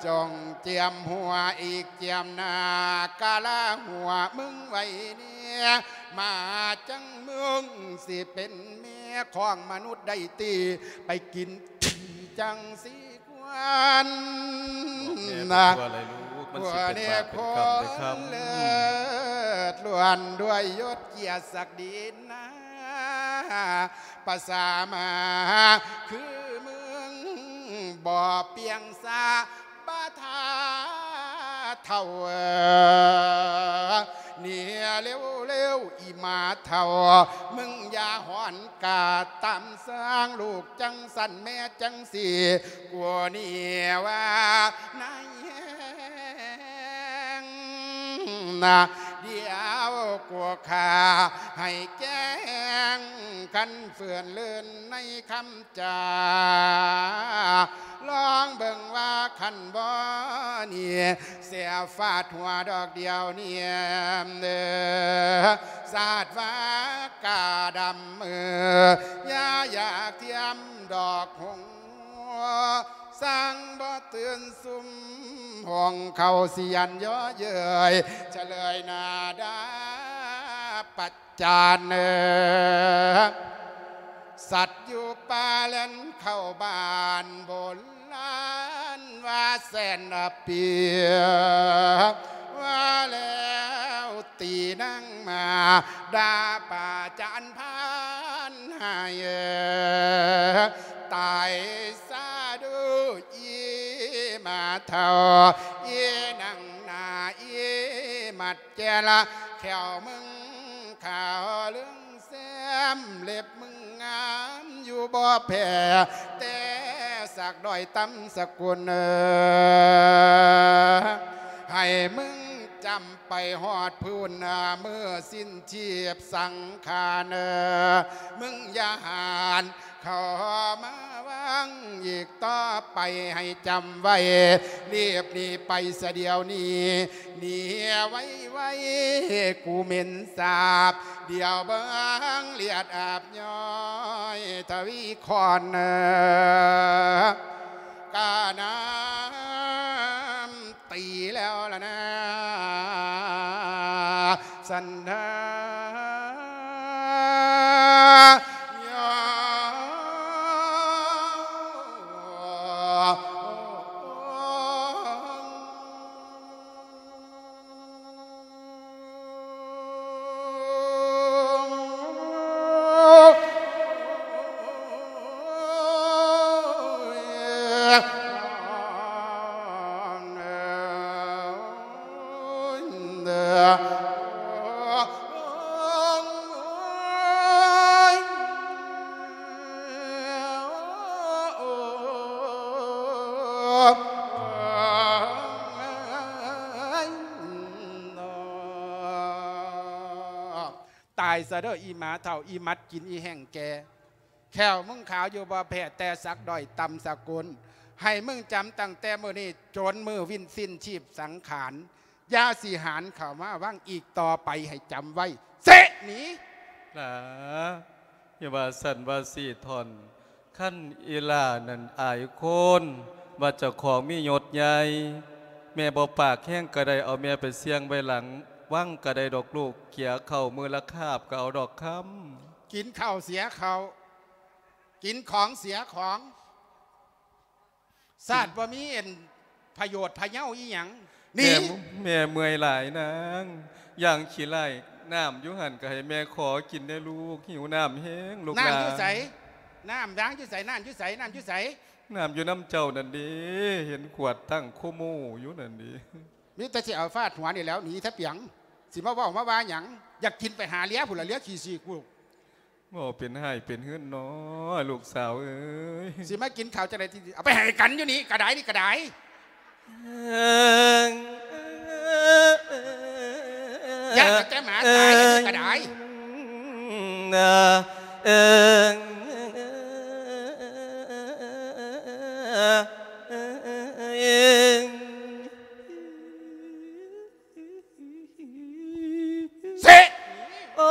ຈົ່ງຈຽມຫົວອີກຈຽມໜ້າ ກະລະຫົວມຶງໄວ້ແດ່ ມາຈັ່ງມຶງຊິເປັນແມ່ຂອງມະນຸດໄດ້ຕິ ໄປກິນຂີ້ຈັ່ງຊິຄວນ ບອກແມ່ໄປທົ່ວເລີຍລູກ ມັນຊິເປັນບາບເປັນກຳເດ້ຄຳ ເລີດລ້ວນດ້ວຍຍົດກຽດສັກດີນາ ປະສາມາຄືມຶງບໍ່ປ່ຽງສາບາທາເຖົ້າ ເອີ ເນຍເລວໆ ອີ່ໝາເຖົ້າ ມຶງຢ່າຮ້ອນກາຕາມສ້າງ ລູກຈັ່ງຊັ້ນແມ່ຈັ່ງຊີ້ ກວ່ານີ້ວ່ານາຍແຮງນະ ດຽວກວ່າຂ້າໃຫ້ແຈ້ງ ຄັນເຟື່ອນເລີນໃນຄຳ ຈາ ລອງເບິ່ງວ່າຄັນບໍ່ນີ້ ເສຍຟາດຫົວດອກດຽວນີ້ ເອີ ສາດວ່າກາດຳ ເອີ ຢ່າຢາກທຽມດອກຫົງ ສັງບໍ່ຕື່ນຊຸມ ຫົງເຂົ້າຊິຢັນຍໍເຍີ້ຍ ສະເລີຍໜ້າດາປັດ ຈານເອີ ສັດຢູ່ປ່າແລ່ນເຂົ້າບ້ານ ໂບລານວ່າແສນອະປີ ວ່າແລ້ວຕີນາງມາ ດ່າປາຈານພານໃຫ້ເອີ ຕາຍຊະດູອີ່ໝາເຖົ້າ ອີ່ນາງໜ້າ ອີ່ໝາດ ແກ່ລະແຂ້ວມຶງຂາວເຫຼືອງແຊມ ເລັບມຶງງາມຢູ່ບໍ່ແພ້ແຕ່ສັກດ້ອຍຕ່ຳສະກຸນ ເອີ ໃຫ້ມຶງຈຳໄປຮອດພຸ້ນ ເມື່ອສິ້ນຊີບສັງຂານ ເອີ ມຶງຢ່າຫານ ເຂົ້າມາວັງອີກຕໍ່ໄປໃຫ້ຈຳໄວ້ ລີບໜີໄປສະດຽວນີ້ ໜີໄວໆ ກູເໝັນສາບ ດຽວເບິ່ງເລືອດອາບຍ້ອຍທະວີຄອນ ກະນ້ຳ ຕີແລ້ວລະນາ ສັນທາຍອ ຕາຍຊະເດີ ອີ່ໝາເຖົ້າ ອີ່ໝັດກິນ ອີ່ແຫ້ງແກ່ ແຂ້ວມຶງຂາວຢູ່ບໍ່ແພ້ແຕ່ສັກດ້ອຍຕ່ຳສະກຸນ ໃຫ້ມຶງຈຳຕັ້ງແຕ່ມື້ນີ້ຈົນມື້ສິ້ນຊີບສັງຂານ ຢ່າຊິຫານເຂົ້າມາວັງອີກຕໍ່ໄປ ໃຫ້ຈຳໄວ້ ເຊະໜີ ຫຼາ ຢ່າວ່າຊັ້ນວ່າຊີ້ທ່ອນ ຄັນອີ່ຫຼ້ານັ້ນອາຍຄົນ ວ່າເຈົ້າຂອງມີຍົດໃຫຍ່ ແມ່ບໍ່ປາກແຮງກະໄດ້ ເອົາແມ່ໄປສ່ຽງໄວ້ຫຼັງວັງກະໄດ້ດອກລູກ ເກຍເຂົ້າມື້ລະຄາບກະເອົາດອກຄຳ. ກິນເຂົ້າເສຍເຂົ້າ ກິນຂອງເສຍຂອງ ຊາດບໍ່ມີອັນພະໂຍດພະເຍົາອີ່ຫຍັງ ໜີ. ແມ່ ແມ່ເມື່ອຍຫຼາຍນາງ ຢ່າງຂີ້ໄລ່ ນ້ຳຢູ່ຫັ້ນກະໃຫ້ແມ່ຂໍກິນແດ່ລູກ ຫິວນ້ຳແຮງລູກຫຼານ. ນ້ຳຢູ່ໃສ? ນ້ຳວາງຢູ່ໃສ? ນ້ຳຢູ່ໃສ? ນ້ຳຢູ່ໃສ? ນ້ຳຢູ່ນຳເຈົ້ານັ້ນເດ ເຫັນຂວດຕັ້ງໂຄໂມຢູ່ນັ້ນເດ. ມີແຕ່ຊິເອົາຟາດຫົວນີ້ແຫຼ້ວ ໜີຊະປຽງ ຊິມາເວົ້າມາວ່າຫຍັງ? ຢາກກິນໄປຫາເລຍພຸ້ນລະ ເລຍຂີ້ສີກລູກ. ເວົ້າເປັນຮ້າຍເປັນເຮືອນເນາະ ລູກສາວເອີຍ. ຊິມາກິນເຂົ້າຈັ່ງໃດ? ເອົາໄປໃຫ້ກັນຢູ່ນີ້ກະໄດ້ ນີ້ກະໄດ້. ຢ້ານແຕ່ໝາຕາຍ ອັນນີ້ກະໄດ້. ເຊະ! ໂອ້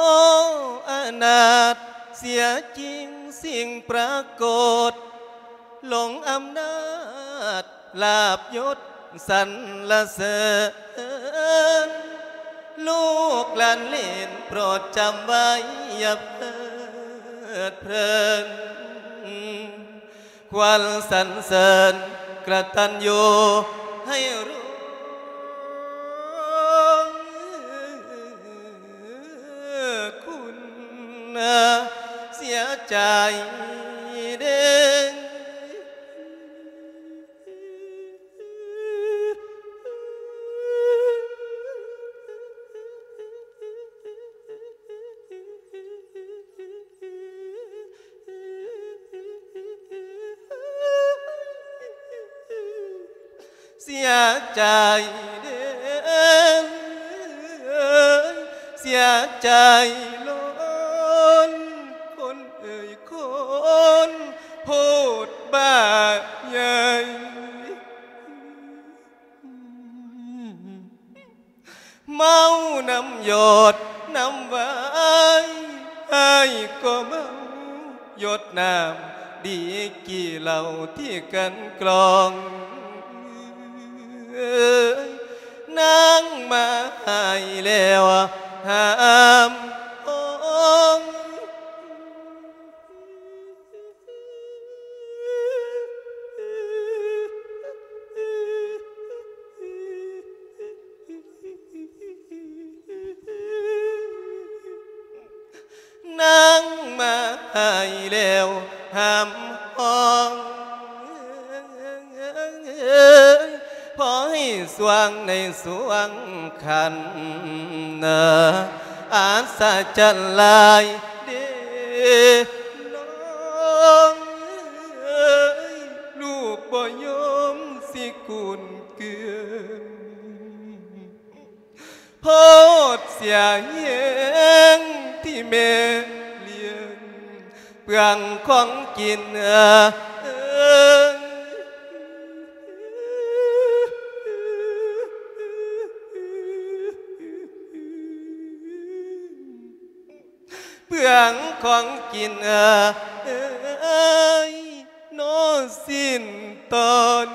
ອະນາດເສຍຈິງສິ່ງປາກົດ ຫຼົງອຳນາດລາບຍົດ ສັນລະເສີນ ລູກຫຼານເລນໂປດຈຳໄວ້ ຢ່າເພີດເພີນ ຄວນສັນເສີນກະຕັນຍູໃຫ້ຮູ້ຄຸນ ເສຍໃຈເດ້. ເສຍໃຈເດ້ ເສຍໃຈລ້ນ ຄົນເອີຍຄົນໂພດບ້າໃຫຍ່ ເມົານຳຢົດນຳວາຍ ອ້າຍກໍເມົາຢົດນ້ຳ ດີກີເຫຼົ້າທີ່ກັ່ນກລອງ ນາງມາໃຫ້ແລ້ວຫ້າມຫ້ອງ. ນາງມາໃຫ້ແລ້ວຫ້າມຫ້ອງ ພໍໃຫ້ສວ່າງໃນສວ່າງຄັນ ອັດສະຈັນຫຼາຍເດ້ນ້ອງເອີຍ ລູກບໍ່ຍອມຊິກຸນເກືອນ ໂພດເສຍແຮງທີ່ແມ່ລ້ຽງ ເປືອງຂອງກິນ ເອີ ເປືອງຂອງກິນ ເອີຍ ໂນ ສິ້ນຕອນ.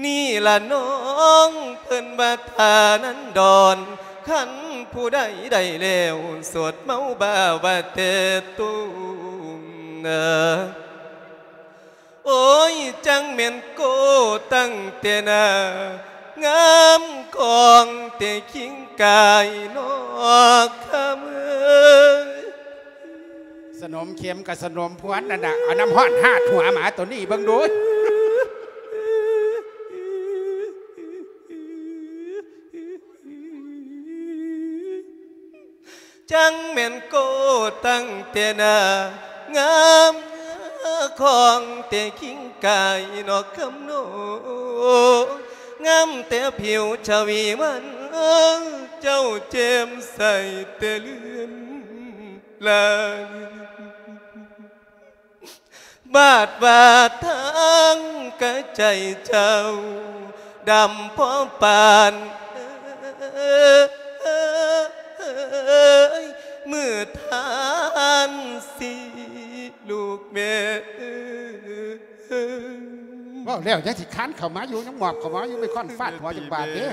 ນີ້ລະນ້ອງເພິ່ນວ່າທ່ານັນດອນ ຄັນຜູ້ໃດໄດ້ແລ້ວ ສົດເມົາບ້າວ່າແຕ່ຕຸງ ໂອ້ຍ ຈັ່ງແມ່ນໂກຕັ້ງແຕ່ໜ້າ ງາມຂອງແຕ່ຄີງກາຍນອກຄຳເອີຍ. ສະໜົມເຂັມກັບສະໜົມພວນນັ້ນນະ ເອົານ້ຳຮ້ອນຫາດຫົວໝາໂຕນີ້ເບິ່ງດູ. ຈັ່ງແມ່ນໂກຕັ້ງແຕ່ໜ້າ ງາມຂອງແຕ່ຄີງກາຍນອກຄຳໂນ ງາມແຕ່ຜິວຊະວີວັນ ເຈົ້າແຈ່ມໃສແຕ່ເລື່ອນລາຍ. ບາດວ່າທາງກະໃຈເຈົ້າ ດຳພໍປານ ເອີຍ ມື້ທ່ານຊິລູກແມ່ເອີຍ. ເວົ້າແລ້ວຍັງຊິຄານເຂົ້າມາຢູ່ ຍັງໝອບເຂົ້າມາຢູ່ ໄມ້ຄ້ອນຟາດຫົວຈັກບາດເດ້.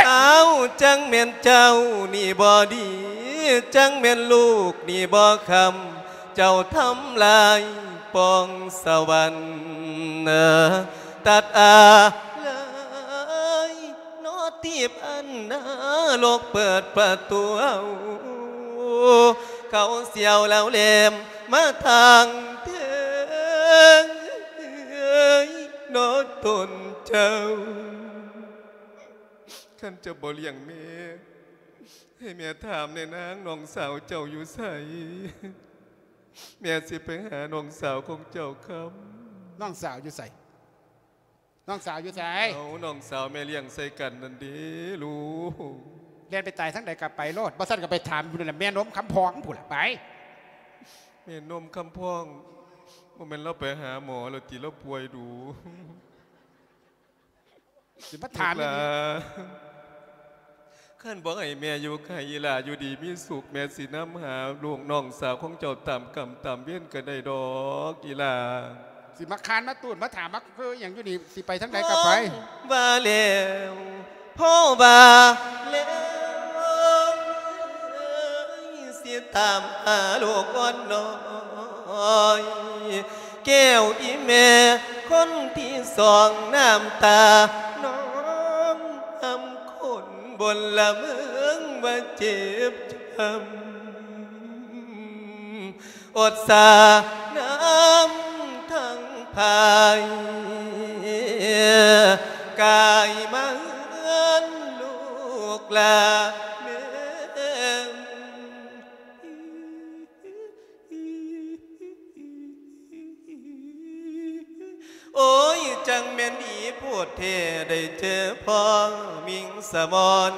ອ້າວ ຈັ່ງແມ່ນເຈົ້ານີ້ບໍ່ດີ ຈັ່ງແມ່ນລູກນີ້ບໍ່ຄຳ ເຈົ້າທຳລາຍປອງສະຫວັນ ຕັດອາໄລເນາະ ຕີບອັນນະລົກເປີດປະຕູເອົາ ເຂົາສຽວລາວແຫຼມມາທາງເທິງເນາະຕົນເຈົ້າ. ຄັນເຈົ້າບໍ່ລ້ຽງແມ່ ໃຫ້ແມ່ຖາມແດ່ນາງ ນ້ອງສາວເຈົ້າຢູ່ໃສ? ແມ່ຊິໄປຫານ້ອງສາວຂອງເຈົ້າຄຳ. ນ້ອງສາວຢູ່ໃສ? ນ້ອງສາວຢູ່ໃສ? ເອົາ ນ້ອງສາວແມ່ລ້ຽງໃສ່ກັນນັ້ນເດ້ລູກ. ແລ່ນໄປຕາຍທາງໃດກໍໄປໂລດ ບໍ່ຊັ້ນກໍໄປຖາມຢູ່ນັ້ນແຫຼະ ແມ່ນົມຄຳພອງພຸ້ນລະໄປ. ແມ່ນົມຄຳພອງ ບໍ່ແມ່ນລາວໄປຫາໝໍແລ້ວຕິ ລາວປ່ວຍດູ. ຊິມາຖາມອີ່ຫຼີ. ຄັນບໍ່ໃຫ້ແມ່ຢູ່ໃກ້ ອີ່ຫຼ້າຢູ່ດີມີສຸກ ແມ່ຊິນຳຫາລູກນ້ອງສາວຂອງເຈົ້າຕາມກຳຕາມເວນກໍໄດ້ດອກ ອີ່ຫຼ້າ. ຊິມາຄານມາຕູດມາຖາມມາຄືຫຍັງຢູ່ນີ້ ຊິໄປທາງໃດກໍໄປ. ວ່າແລ້ວ ພໍວ່າແລ້ວ ຊິຕາມຫາລູກອ່ອນນ້ອຍ ແກ້ວອີ່ແມ່ຄົນທີສອງ ນ້ຳຕານອງຮຳຄົນບົນລະເມືອງວ່າເຈັບຊ້ຳ ອົດສານ້ຳທັງພາຍ ກາຍມາເຮືອນລູກລາແມ່ນ. ໂອ້ຍ ຈັ່ງແມ່ນດີໂພດແທ້ ໄດ້ເຈີພໍ່ມິງສະໝອນ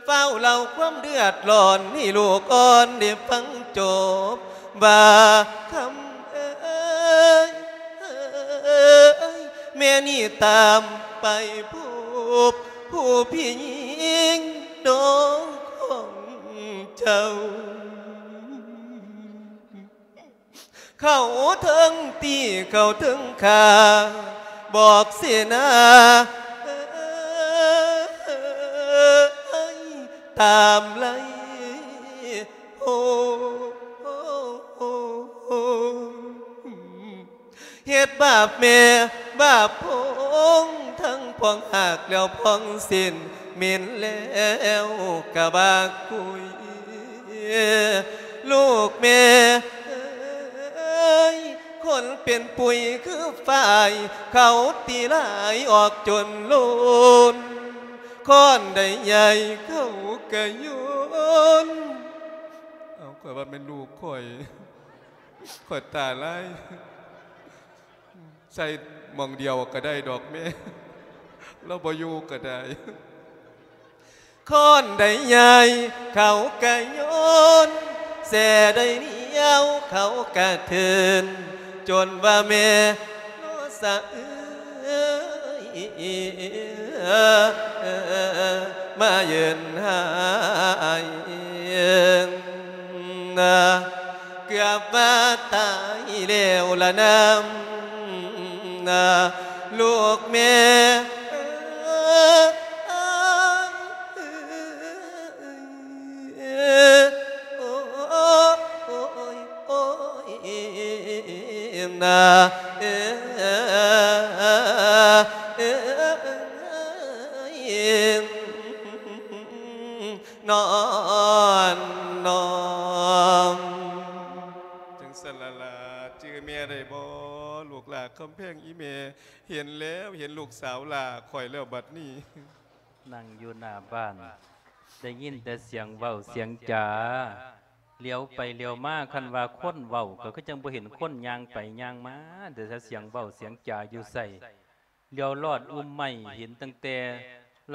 ຟ້າວເລົ່າຄວາມເດືອດຮ້ອນໃຫ້ລູກອ່ອນໄດ້ຟັງຈົບ ວ່າຄຳເອີຍ ແມ່ນີ້ຕາມໄປພົບຜູ້ພີ່ຍິງນ້ອງຂອງເຈົ້າ. ເຂົາເຖິງຕີເຂົາເຖິງຂ້າ ບອກເສນາ ຕາມໄລ່ໂຫ ເຮັດບາບແມ່ບາບພອງ ທັງພອງຫາກແລ້ວພອງເສັ້ນ ເໝັນແລ້ວກະບາກກຸຍ ລູກແມ່ເອີຍ ຄົນເປັນປຸຍຄືຝ້າຍ ເຂົາຕີຫຼາຍອອກຈົນໂລນ ຄ້ອນໃດໃຫຍ່ເຂົາກະໂຍນ. ເອົາ ຂ້ອຍວ່າແມ່ນລູກຂ້ອຍ ຂ້ອຍຕາຫຼາຍ. ໃສ່ໝ່ອງດຽວກໍໄດ້ດອກແມ່ ລາວບໍ່ຢູ່ກໍໄດ້. ຄ້ອນໃດໃຫຍ່ເຂົາກະໂຍນ ແສໃດໜຽວເຂົາກະເທີນ ຈົນວ່າແມ່ນອສະເອີຍ ມາເອີ້ນຫາອ້າຍ ເກືອບວ່າຕາຍແລ້ວລະນຳ ລູກແມ່ເອີຍ ໂອ້ຍ ໂອ້ຍ ໂອ້ຍ ນາ ເອີ ເອີ ເອີ ນອນນ້ອມ. ຈັ່ງຊັ້ນລະລະ ຈື່ແມ່ໄດ້ບໍ່ ລູກຫຼ້າຄຳແພງ? ອີ່ແມ່ເຫັນແລ້ວ ເຫັນລູກສາວຫຼ້າຂ້ອຍແລ້ວບັດນີ້. ນັ່ງຢູ່ໜ້າບ້ານ ໄດ້ຍິນແຕ່ສຽງເວົ້າສຽງຈາ ຫຼຽວໄປຫຼຽວມາ ຄັນວ່າຄົນເວົ້າ ກໍຄືຈັ່ງບໍ່ເຫັນຄົນຍ່າງໄປຍ່າງມາ ແຕ່ສຽງເວົ້າສຽງຈາຢູ່ໃສ ຫຼຽວລອດອຸ່ມໄມ້ ເຫັນຕັ້ງແຕ່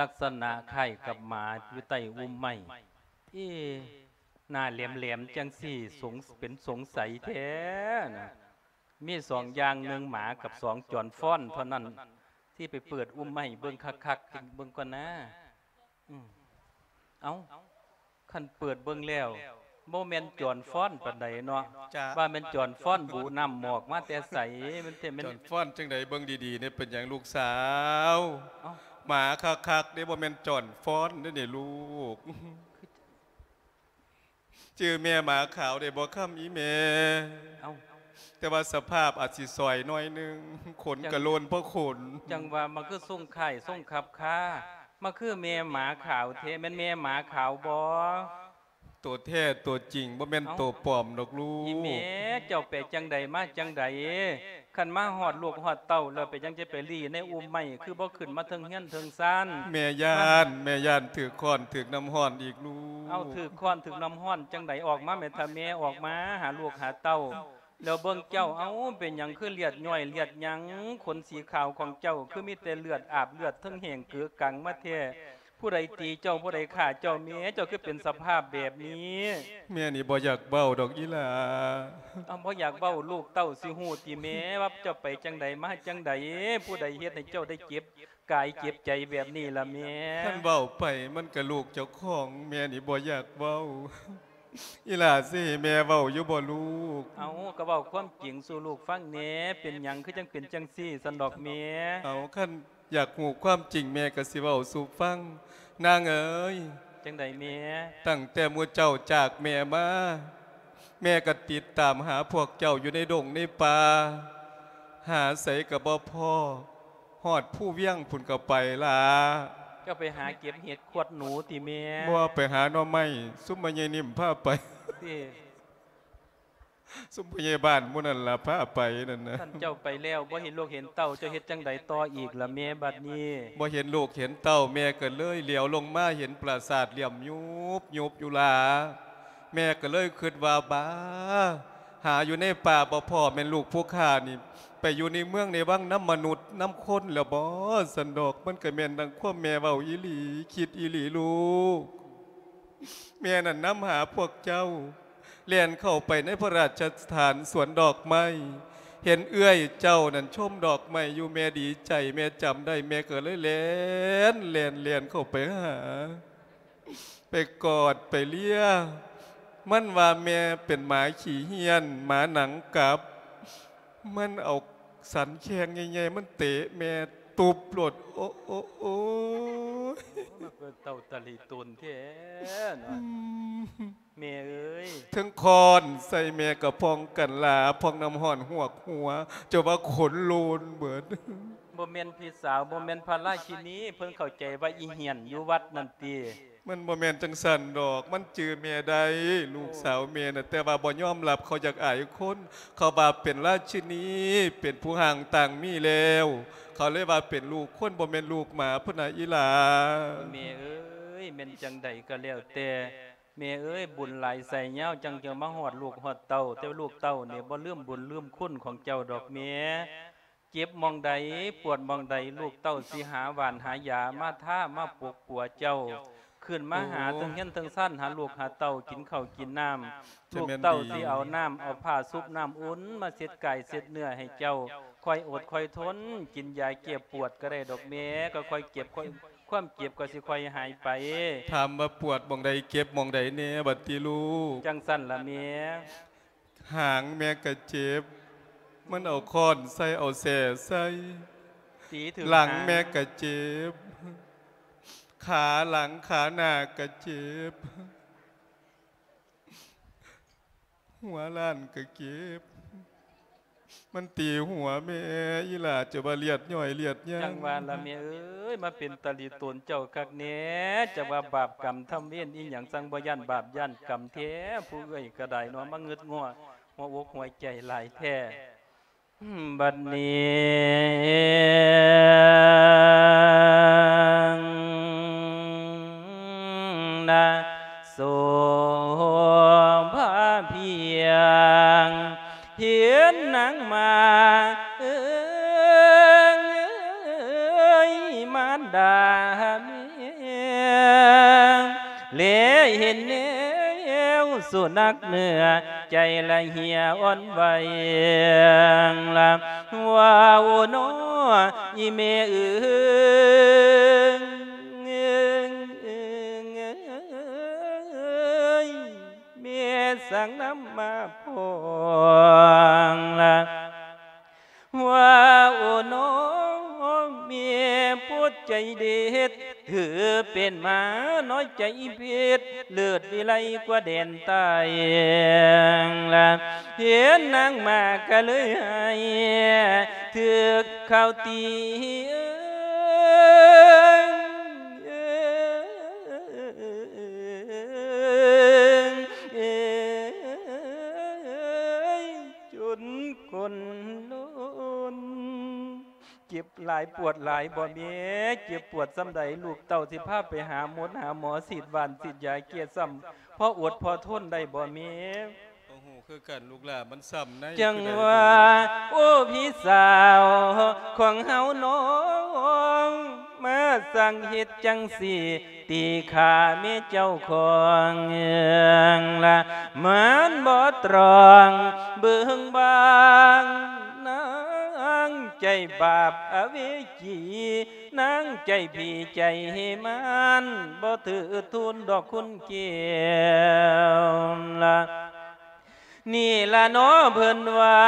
ລັກສະນະຄ້າຍກັບໝາຢູ່ໃຕ້ອຸ່ມໄມ້. ເອ ໜ້າແຫຼມໆ ຈັ່ງຊີ້ ສົງ ເປັນສົງໄສແທ້ນະ. ມີສອງຢ່າງ ໜຶ່ງໝາກັບສອງຈອນຟ້ອນເທົ່ານັ້ນ ທີ່ໄປເປີດອຸ່ມໄມ້ເບິ່ງຄັກໆ ເບິ່ງກ່ອນນາ. ອືມ ເອົ້າ ຄັນເປີດເບິ່ງແລ້ວ ບໍ່ແມ່ນຈອນຟ້ອນປານໃດເນາະ. ຈະ ວ່າແມ່ນຈອນຟ້ອນບຸນ້ຳໝອກມາແຕ່ໃສ? ມັນແທ້ແມ່ນ ຈອນຟ້ອນຈັ່ງໃດ? ເບິ່ງດີໆ ນີ້ເປັນຫຍັງລູກສາວ? ເອົ້າ ໝາຄັກໆ ເດ້ ບໍ່ແມ່ນຈອນຟ້ອນເດ້ນີ້ລູກ. ຈື່ແມ່ໝາຂາວໄດ້ບໍ່ຄຳອີ່ແມ່? ເອົ້າ ແຕ່ວ່າສະພາບອາດຊິຊອຍໜ້ອຍໜຶ່ງ ຂົນກະໂລນພໍຂົນ. ຈັ່ງວ່າມາຄືຊົງຄ້າຍຊົງຂັບຄາ ມາຄືແມ່ໝາຂາວແທ້ ແມ່ນແມ່ໝາຂາວບໍ່? ໂຕແທ້ໂຕຈິງ ບໍ່ແມ່ນ ເອົ້າ ໂຕປອມດອກລູກ. ອີ່ແມ່ ເຈົ້າໄປຈັ່ງໃດມາຈັ່ງໃດ? ຄັນມາຮອດລູກຮອດເຕົ້າແລ້ວ ເປັນຫຍັງຈະໄປລີ້ໃນອຸ່ມໄມ້ ຄືບໍ່ຂຶ້ນມາເທິງເຮືອນເທິງຊານ? ແມ່ຢ້ານ ມາ ແມ່ຢ້ານຖືກຄ້ອນຖືກນ້ຳຮ້ອນອີກລູກ. ເອົ້າ ຖືກຄ້ອນຖືກນ້ຳຮ້ອນຈັ່ງໃດ? ອອກມາແມ່ ຖ້າແມ່ອອກມາຫາລູກຫາເຕົ້າ ແລ້ວເບິ່ງເຈົ້າ ເອົ້າ ເປັນຫຍັງຄືເລືອດຍ້ອຍເລືອດຫຍັງ? ຂົນສີຂາວຂອງເຈົ້າຄືມີແຕ່ເລືອດອາບເລືອດ ເທິງແຫ້ງເກີກັງມາແທ້. ຜູ້ໃດຕີເຈົ້າ ຜູ້ໃດຂ້າເຈົ້າ? ແມ່ເຈົ້າຄືເປັນສະພາບແບບນີ້? ແມ່ນີ້ບໍ່ຢາກເວົ້າດອກອີ່ຫຼ້າ. ເອົ້າ ບໍ່ຢາກເວົ້າ ລູກເຕົ້າຊິຮູ້ຕິແມ່ ວ່າເຈົ້າໄປຈັ່ງໃດມາຈັ່ງໃດ? ຜູ້ໃດເຮັດໃຫ້ເຈົ້າໄດ້ເຈັບກາຍເຈັບໃຈແບບນີ້ລະແມ່? ຄັນເວົ້າໄປມັນກະລູກເຈົ້າຂອງ ແມ່ນີ້ບໍ່ຢາກເວົ້າ. ອີ່ຫຼ້າຊິໃຫ້ແມ່ເວົ້າຢູ່ບໍ່ລູກ? ເອົາ ກໍເວົ້າຄວາມຈິງສູ່ລູກຟັງແດ່ ເປັນຫຍັງຄືຈັ່ງເປັນຈັ່ງຊີ້ຊັ້ນດອກແມ່? ເອົາ ຄັນຢາກຮູ້ຄວາມຈິງ ແມ່ກໍຊິເວົ້າສູ່ຟັງ ນາງເອີຍ. ຈັ່ງໃດແມ່? ຕັ້ງແຕ່ໝູ່ເຈົ້າຈາກແມ່ມາ ແມ່ກໍຕິດຕາມຫາພວກເຈົ້າຢູ່ໃນດົງໃນປ່າ ຫາໃສກໍບໍ່ພໍ້ ຮອດພູວຽງພຸ້ນກໍໄປລະ. ເຈົ້າໄປຫາເກັບເຫັດຂວດໜູຕິແມ່? ບໍ່ ໄປຫາໜໍ່ໄມ້ ຊຸມແມ່ໃຫຍ່ນິ້ມພາໄປ. ຕິ? ຊຸມຜູ້ໃຫຍ່ບ້ານໝູ່ນັ້ນລະພາໄປນັ້ນນະ. ຄັນເຈົ້າໄປແລ້ວ ບໍ່ເຫັນລູກເຫັນເຕົ້າ ເຈົ້າເຮັດຈັ່ງໃດຕໍ່ອີກລະແມ່ບັດນີ້? ບໍ່ເຫັນລູກເຫັນເຕົ້າ ແມ່ກໍເລີຍຫຼຽວລົງມາເຫັນປາສາດຫຼ້ຽມຍຸບໆຢູ່ຫຼ້າ. ແມ່ກໍເລີຍຄິດວ່າ ບາ ຫາຢູ່ໃນປ່າບໍ່ພໍ້ ແມ່ນລູກຜູ້ຂ້ານີ້ໄປຢູ່ໃນເມືອງໃນວັງນຳມະນຸດນຳຄົນແລ້ວບໍ ຊັ້ນດອກ. ມັນກໍແມ່ນດັ່ງຄວາມແມ່ເວົ້າອີ່ຫຼີ ຄິດອີ່ຫຼີລູກ. ແມ່ນັ້ນນຳຫາພວກເຈົ້າ ແລ່ນເຂົ້າໄປໃນພະລາຊະສະຖານສວນດອກໄມ້ ເຫັນເອື້ອຍເຈົ້ານັ້ນຊົມດອກໄມ້ຢູ່ ແມ່ດີໃຈ ແມ່ຈຳໄດ້ ແມ່ກໍເລີຍແລ່ນ ແລ່ນ ແລ່ນເຂົ້າໄປຫາ ໄປກອດໄປເລຍ ມັນວ່າແມ່ເປັນໝາຂີ້ເຫ້ຍນ ໝາໜັງກັບ ມັນເອົາສັນແຂ້ງໃຫຍ່ໆ ມັນເຕະແມ່ຕຸບໂລດ. ໂອ ໂອ ໂອຍ ມັນເປັນເຕົ້າຕະລິຕົນແທ້ເນາະ. ອືມ ແມ່ເອີຍ ເທິງຄ້ອນໃສ່ແມ່ກໍພອງກັນລາ ພອງນ້ຳຮ້ອນຫວກຫົວ ຈົນວ່າຂົນໂລນເບິດ. ບໍ່ແມ່ນພີ່ສາວ ບໍ່ແມ່ນພະລາຊິນີ ເພິ່ນເຂົ້າໃຈວ່າອີ່ເຫ້ຍນຢູ່ວັດນັ້ນຕິ? ມັນບໍ່ແມ່ນຈັ່ງຊັ້ນດອກ ມັນຈື່ແມ່ໄດ້ ລູກສາວແມ່ນະ ແຕ່ວ່າບໍ່ຍອມຮັບ ເຂົາຢາກອາຍຄົນ ເຂົາວ່າເປັນລາຊິນີ ເປັນຜູ້ຮ່າງຕ່າງມີແລ້ວ ເຂົາເລີຍວ່າເປັນລູກຄົນ ບໍ່ແມ່ນລູກໝາພຸ້ນນະອີ່ຫຼ້າ. ແມ່ເອີຍ ແມ່ນຈັ່ງໃດກໍແລ້ວແຕ່ ແມ່ເອີຍ ບຸນຫຼາຍໄຊຍາວ ຈັ່ງຈະມາຮອດລູກຮອດເຕົ້າ ແຕ່ວ່າລູກເຕົ້ານີ້ບໍ່ລືມບຸນລືມຄຸນຂອງເຈົ້າດອກແມ່. ເຈັບໝ່ອງໃດ ປວດໝ່ອງໃດ ລູກເຕົ້າຊິຫາຫວານຫາຢາມາທາມາປົກປົວເຈົ້າ ຂຶ້ນມາຫາເທິງເຮືອນເທິງຊານ ຫາລູກຫາເຕົ້າກິນເຂົ້າກິນນ້ຳ. ລູກເຕົ້າຊິເອົານ້ຳເອົາຜ້າຊຸບນ້ຳອຸ່ນມາເຊັດກາຍເຊັດເນື້ອໃຫ້ເຈົ້າ ຄ່ອຍອົດຄ່ອຍທົນ ກິນຢາແກ້ປວດກໍໄດ້ດອກແມ່ ກໍຄ່ອຍເຈັບ ຄ່ອຍ ຄວາມເຈັບກໍຊິຄ່ອຍຫາຍໄປ. ຖາມວ່າປວດໝ່ອງໃດ ເຈັບໝ່ອງໃດແດ່ບັດຕິລູກ? ຈັ່ງຊັ້ນລະແມ່. ຫາງແມ່ກະເຈັບ ມັນເອົາຄ້ອນໃສ່ ເອົາແສ້ໃສ່. ຕີຖືກ ຫຼັງແມ່ກະເຈັບ ຂາຫຼັງຂາໜ້າກະເຈັບ ຫົວລ້ານກະເຈັບ. ມັນຕີຫົວແມ່ ອີ່ຫຼ້າຈະວ່າເລືອດຍ້ອຍເລືອດຍາງ. ຈັ່ງວ່າລະແມ່ເອີຍ ມາເປັນຕາລີຕົນເຈົ້າຄັກແດ່ ຈັກວ່າບາບກຳທຳເວນອີ່ຫຍັງ ຈັ່ງບໍ່ຢ້ານບາບຢ້ານກຳແທ້ ຜູ້ເອື້ອຍກໍໄດ້ເນາະ ມາງຶດງໍ້ຫົວອົກຫົວໃຈຫຼາຍແທ້. ບັດນີ້ນາ ໂສພາພຽງ ເຫັນນາງມາເອີຍ ມານດາແມ່ ແລເຫັນແນວສຸນັກເນື້ອ ໃຈລະເຫຍອ່ອນໄຫວ ລະວ່າໂອໂນ ອີແມ່ເອີຍ ແມ່ສັ່ງນຳມາພ້ອມລະ ວ່າໂອໂນ ແມ່ໂພດໃຈເດັດ ຖືເປັນໝານ້ອຍໃຈເພັດ ເລີດວິໄລກວ່າແດນໃຕ້ລະ ເຫັນນາງມາກະເລີຍໃຫ້ ຖືກເຂົາຕີ ເອີຍ ເອີຍ ເອີຍ ຈົນກົ້ນໂລນ. ເຈັບຫຼາຍປວດຫຼາຍບໍ່ແມ່? ເຈັບປວດສ່ຳໃດ ລູກເຕົ້າຊິພາໄປຫາໝົດຫາໝໍ ສີດຫວ່ານສີດຢາແກ້ຊ້ຳ ພໍອົດພໍທົນໄດ້ບໍ່ແມ່? ບໍ່ຮູ້ຄືກັນລູກຫຼ້າ ມັນຊ້ຳໃນ ຈັ່ງວ່າ ໂອ້ ພີ່ສາວຂອງເຮົານ້ອງ ມາສັ່ງເຮັດຈັ່ງຊີ້ ຕີຂ້າແມ່ເຈົ້າຂອງລະ ມັນບໍ່ຕຣອງເບິ່ງບາງ ນາງ ໃຈບາບອະເວຈີ ນາງໃຈຜີໃຈມານ ບໍ່ຖືທູນດອກຄຸນແກ້ວລະ ນີ້ລະເນາະເພິ່ນວ່າ